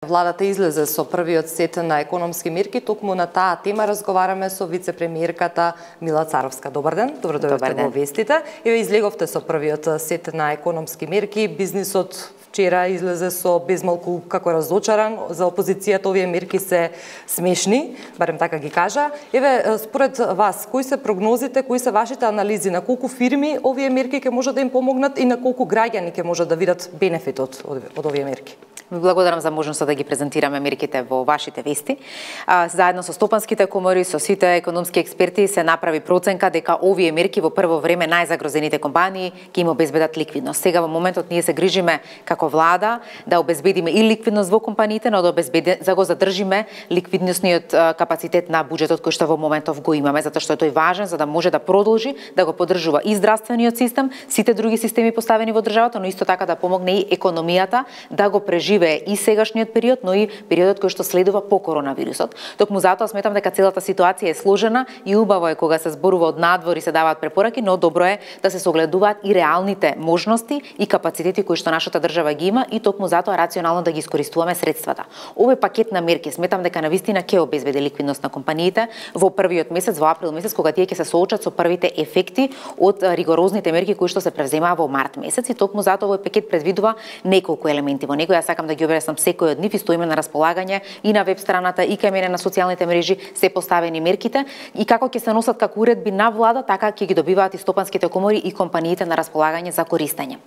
Владата излезе со првиот сет на економски мерки, токму на таа тема разговараме со вице-премиерката Мила Царовска. Добар ден, добро дојдовте во вестите. Еве излеговте со првиот сет на економски мерки, бизнисот вчера излезе со безмалку како разочаран, за опозицијата овие мерки се смешни, барем така ги кажа. Еве, според вас, кои се прогнозите, кои се вашите анализи, на колку фирми овие мерки ќе може да им помогнат и на колку граѓани ќе може да видат бенефитот од овие мерки? Ви благодарам за можноста да ги презентираме мерките во вашите вести. Заедно со стопанските комори, со сите економски експерти се направи проценка дека овие мерки во прво време најзагрозените компании ќе им обезбедат ликвидност. Сега во моментот ние се грижиме како влада да обезбедиме и ликвидност во компаниите, но да го задржиме ликвидносниот капацитет на буџетот кој што во моментов го имаме, затоа што е тој важен за да може да продолжи да го поддржува и здравствениот систем, сите други системи поставени во државата, но исто така да помогне и економијата да го преживее и сегашниот период, но и периодот кој што следува по коронавирусот. Токму затоа сметам дека целата ситуација е сложена и убаво е кога се зборува од надвор и се даваат препораки, но добро е да се согледуваат и реалните можности и капацитети кои што нашата држава ги има и токму затоа рационално да ги искористуваме средствата. Овој пакет на мерки сметам дека навистина ќе обезбеди ликвидност на компаниите во првиот месец, во април месец, кога тие ќе се соочат со првите ефекти од ригорозните мерки кои што се превземаа во март месец и токму затоа овој пакет предвидува неколку елементи. Во него јас сакам да ги објаснам секој од нив и стоиме на располагање и на веб страната и кај мене на социјалните мрежи се поставени мерките и како ќе се носат како уредби на влада, така ќе ги добиваат и стопанските комори и компаниите на располагање за користење.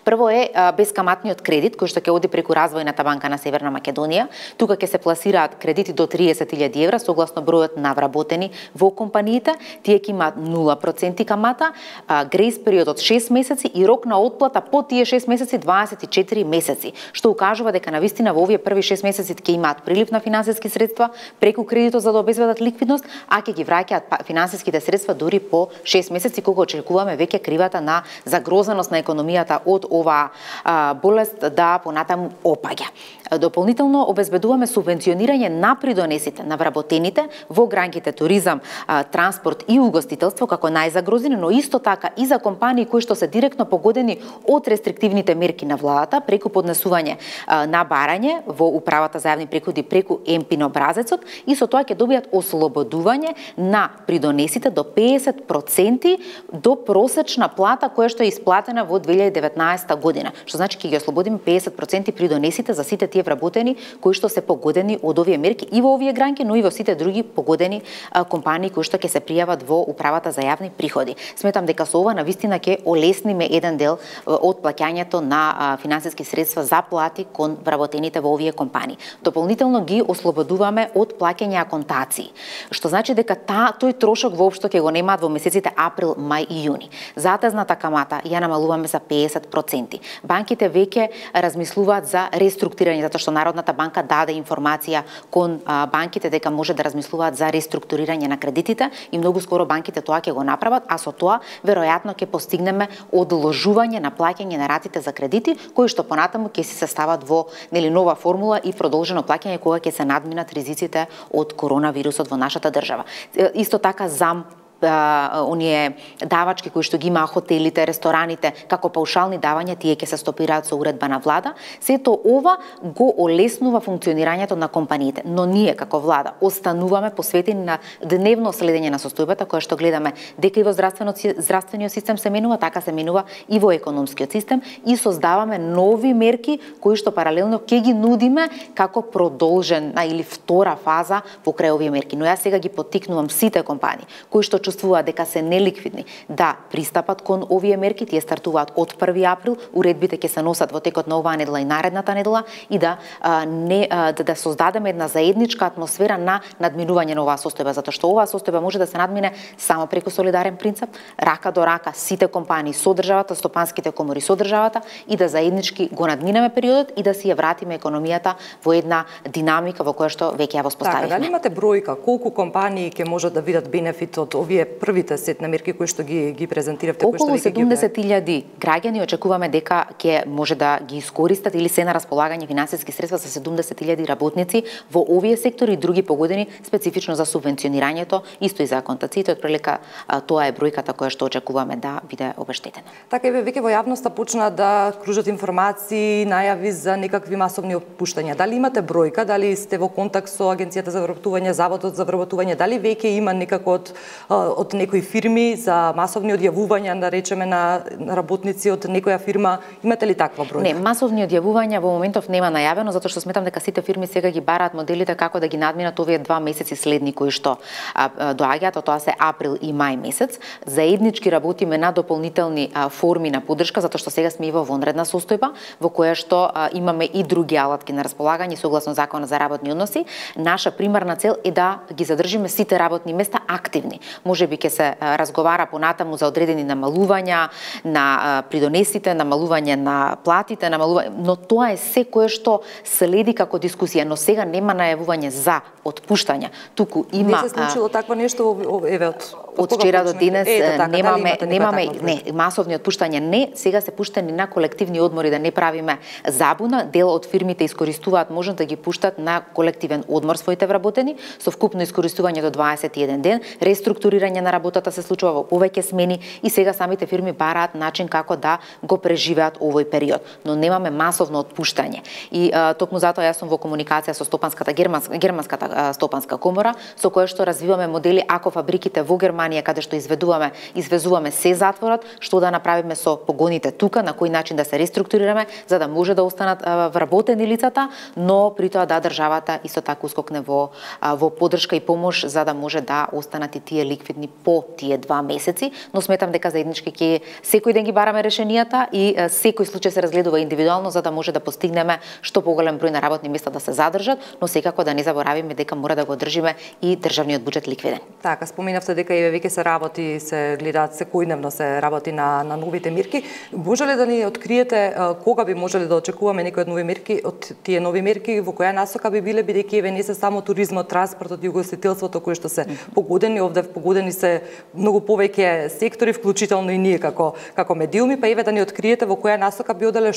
Прво е бескаматниот кредит кој што ќе оди преку Развојната банка на Северна Македонија. Тука ќе се пласираат кредити до 30.000 евра согласно бројот на вработени во компаниите. Тие ќе имаат 0% камата, грејс период од 6 месеци и рок на отплата по тие 6 месеци 24 месеци, што укажува дека навистина во овие први 6 месеци ќе имаат прилив на финансиски средства преку кредитот за да обезбедат ликвидност, а ќе ги враќаат финансиските средства дури по 6 месеци кога очекуваме веќе кривата на загрозеност на економијата од ова болест да понатаму опаѓа. Дополнително обезбедуваме субвенционирање на придонесите на вработените во гранките туризам, транспорт и угостителство како најзагрозени, но исто така и за компании кои што се директно погодени од рестриктивните мерки на владата преку поднесување на барање во управата за јавни приходи преку МПИН образецот и со тоа ќе добијат ослободување на придонесите до 50% до просечна плата која што е исплатена во 2019 година. Што значи ќе ги ослободиме 50% придонесите за сите тие вработени кои што се погодени од овие мерки и во овие гранки, но и во сите други погодени компании кои што ќе се пријават во управата за јавни приходи. Сметам дека со ова навистина ќе олесниме еден дел од плаќањето на финансиски средства за плати кон вработените во овие компании. Дополнително ги ослободуваме од плаќање аконтации, што значи дека тој трошок воопшто ќе го немаат во месеците април, мај и јуни. Затезната камата ја намалуваме за 50%. Банките веќе размислуваат за реструктурирање, затоа што Народната банка даде информација кон банките дека може да размислуваат за реструктурирање на кредитите и многу скоро банките тоа ќе го направат, а со тоа веројатно ќе постигнеме одложување на плаќање на ратите за кредити, кои што понатаму ќе се состават во нова формула и продолжено плаќање кога ќе се надминат ризиците од коронавирусот во нашата држава. Исто така оние давачки кои што ги има хотелите, рестораните, како паушални давања, тие ќе се стопираат со уредба на влада. Сето ова го олеснува функционирањето на компаниите, но ние како влада остануваме посветени на дневно следење на состојбата која што гледаме дека и во здравствениот систем се менува, така се менува и во економскиот систем и создаваме нови мерки кои што паралелно ќе ги нудиме како продолжена или втора фаза покрај овие мерки. Но јас сега ги поттикнувам сите компании кои што чувствуваат дека се неликвидни да пристапат кон овие мерки. Тие стартуваат од 1 април, уредбите ќе се носат во текот на оваа недела и наредната недела и да создадеме една заедничка атмосфера на надминување на оваа состојба, затоа што оваа состојба може да се надмине само преку солидарен принцип, рака до рака, сите компании со државата, стопанските комори со државата и да заеднички го надминеме периодот и да си ја вратиме економијата во една динамика во која што веќе ја воспоставивме. Така, дали имате бројка колку компании ќе можат да видат бенефит од овие овие првите сет на мерки кои што ги презентиравте, кои што околу 70.000 граѓани очекуваме дека ќе може да ги искористат или се на располагање финансиски средства за 70.000 работници во овие сектори и други погодени специфично за субвенционирањето, исто и за аконтациите, отприлика тоа е бројката која што очекуваме да биде обештетена. Така еве веќе во јавноста почна да кружат информации, најави за некакви масовни отпуштања. Дали имате бројка, дали сте во контакт со Агенцијата за вработување, Заводот за вработување, дали веќе има некако од некои фирми за масовни одјавувања, да речеме, на работници од некоја фирма, имате ли таква бројка? Не, масовни одјавувања во моментов нема најавено, затоа што сметам дека сите фирми сега ги бараат моделите како да ги надминат овие 2 месеци следни кои што доаѓаат, тоа се април и мај месец. Заеднички работиме на дополнителни форми на поддршка, затоа што сега сме и во вонредна состојба, во која што имаме и други алатки на располагање согласно Законот за работни односи. Наша примарна цел е да ги задржиме сите работни места активни. Можеби ќе се разговара понатаму за одредени намалувања на придонесите, намалување на платите, но тоа е се кое што следи како дискусија, но сега нема најавување за отпуштања. Туку има не се случило такво нешто еве од вчера до денес немаме масовни отпуштања, не, сега се пуштени на колективни одмори, да не правиме забуна. Дел од фирмите искористуваат можност да ги пуштат на колективен одмор своите вработени, со вкупно искористување до 21 ден, реструктурирање на работата се случува во повеќе смени и сега самите фирми бараат начин како да го преживеат овој период, но немаме масовно отпуштање. И токму затоа јас сум во комуникација со германската стопанска комора, со која што развиваме модели ако фабриките во Германија каде што извезуваме се затворат, што да направиме со погоните тука, на кој начин да се реструктурираме за да може да останат вработени лицата, но при тоа да државата исто така ускокне во поддршка и помош за да може да останат и тие ликвидни по тие 2 месеци, но сметам дека заеднички ќе секој ден ги бараме решенијата и секој случај се разгледува индивидуално за да може да постигнеме што поголем број на работни места да се задржат, но секако да не заборавиме дека мора да го одржиме и државниот буџет ликвиден. Така, споменавте дека веќе се работи, се гледаат секојдневно се работи на новите мерки. Може ли да ни откриете кога би можеле да очекуваме некои од нови мерки, од тие нови мерки, во која насока би биле, бидејќи еве не се само туризмот, транспортот и угостителството кои што се погодени, овде погодени се многу повеќе сектори, вклучително и ние како медиуми, па еве да ни откриете во која насока би оделе,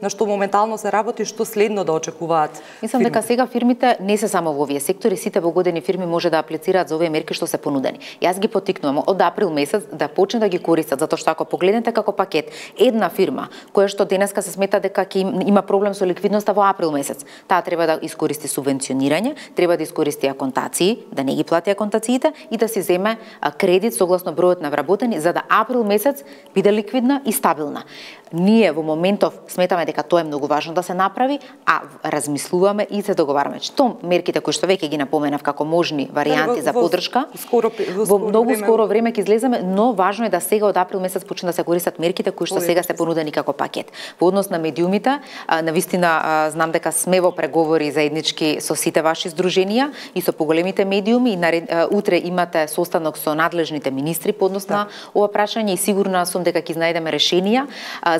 на што моментално се работи, што следно да очекуваат. Мислам дека сега фирмите не се само во овие сектори, сите погодени фирми може да аплицираат за овие мерки што се понудени. Јас ги поттикнувам од април месец да почне да ги користат, затоа што ако погледнете како пакет, една фирма која што денеска се смета дека има проблем со ликвидноста во април месец, таа треба да искористи субвенционирање, треба да искористи аконтации, да не ги плати аконтациите и да си земе кредит согласно бројот на вработени за да април месец биде ликвидна и стабилна. Ние во моментов сметаме дека тоа е многу важно да се направи, а размислуваме и се договараме што мерките кои што веќе ги напоменав како можни варијанти за поддршка во многу скоро време ќе излеземе, но важно е да сега од април месец почнат да се користат мерките кои што сега се понудени како пакет. Во однос на медиумите, навистина знам дека сме во преговори заеднички со сите ваши здруженија и со поголемите медиуми и утре имате состанок со надлежните министри по однос на ова прашање и сигурна сум дека ќе најдеме решенија,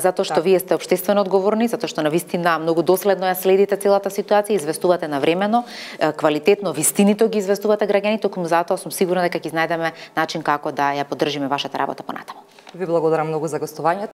затоа што вие сте општествено одговорни, затоа што навистина многу доследно ја следите целата ситуација, известувате навремено, квалитетно, вистинито ги известувате граѓаните, токму затоа сум сигурна дека ќе најдеме начин како да ја поддржиме вашата работа понатаму. Ви благодарам многу за гостувањето.